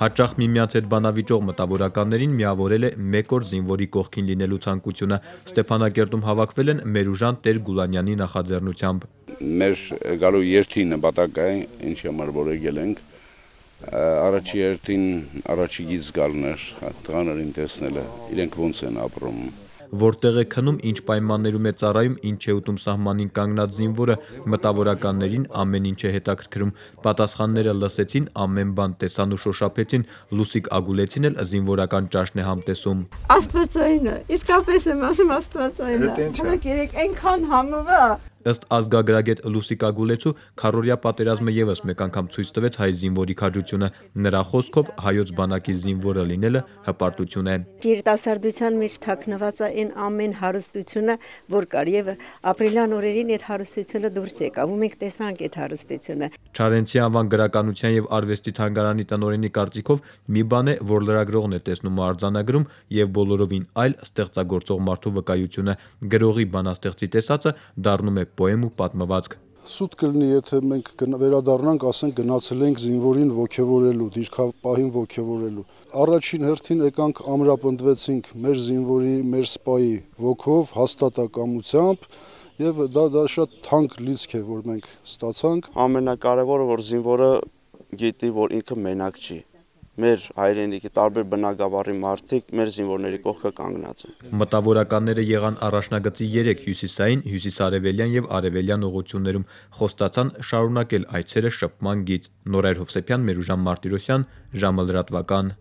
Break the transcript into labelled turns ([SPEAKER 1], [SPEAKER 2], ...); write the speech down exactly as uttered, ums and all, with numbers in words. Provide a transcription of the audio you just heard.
[SPEAKER 1] Հաճախ միմյանց հետ բանավիճող մտավորականներին միավորել է մեկ օր զինվորի կողքին լինելու ցանկությունը։ Ստեփանակերտում հավաքվել են Մերուժան Տեր-Գուլանյանի նախաձեռնությամբ։
[SPEAKER 2] Մեր գալու երթի նպատակը է, ինչի համար որ եկել ենք, առաջի երթին առաջիգից գալն էր, տղաներին տեսնելը, իրենք ոնց են ապրում։
[SPEAKER 1] Որտեղ է քնում, ինչ պայմաններում է ծառայում, ինչ է ուտում սահմանին կանգնած զինվորը, մտավորականներին ամեն ինչ է հետաքրքրում։ Պատասխանները լսեցին, ամեն բան տեսան ու շոշափեցին, Լուսիկ Ագուլեցին էլ զինվորական ճաշն է համտեսում։
[SPEAKER 3] Աստվածային է, իսկապես եմ ասում աստվածային է։ Հələ երեք այնքան համով է։
[SPEAKER 1] Ըստ ազգագրագետ Լուսիկ Ագուլեցու, քառօրյա պատերազմը եւս մեկ անգամ ցույց տվեց հայ զինվորի քաջությունը։ Նրա խոսքով հայոց բանակի զինվորը լինելը հպարտություն է։
[SPEAKER 3] Երիտասարդության մեջ թաքնված է այն ամեն հարստությունը, որ կար, եւ ապրիլյան օրերին այդ հարստությունը դուրս եկավ, ու մենք տեսանք այդ հարստությունը։
[SPEAKER 1] Չարենցի անվան գրականության եւ արվեստի թանգարանի տնօրենի կարծիքով մի բան է, որ լրագրողն է տեսնում ու արձանագրում, եւ բոլորովին այլ ստեղծագործող մարդու վկայությունը։ Գրողի բանաստեղծի տեսածը դառնում է պոեմ ու պատմվածք։
[SPEAKER 4] Սուտ կլինի, եթե մենք վերադառնանք, ասենք գնացել ենք զինվորին ոգևորելու, դիրքապահին ոգևորելու։ Առաջին հերթին եկանք ամրապնդվեցինք մեր զինվորի, մեր սպայի ոգով, հաստատակամությամբ, եւ դա դա շատ թանկ լիցք է, որ մենք ստացանք։
[SPEAKER 5] Ամենակարևորը, որ զինվորը գիտի, որ ինքը մենակ չի։ Մեր հայրենիքի տարբեր բնակավարի մարդիկ մեր զինվորների կողքը կանգնած են։
[SPEAKER 1] Մտավորականները եղան առաջնագծի երեք հյուսիսային, հյուսիսարևելյան եւ արևելյան ուղղություններում, խոստացան շարունակել այցերը շփման գիծ։ Նորայր Հովսեփյան, Մերուժան Մարտիրոսյան, ժամը լրատվական։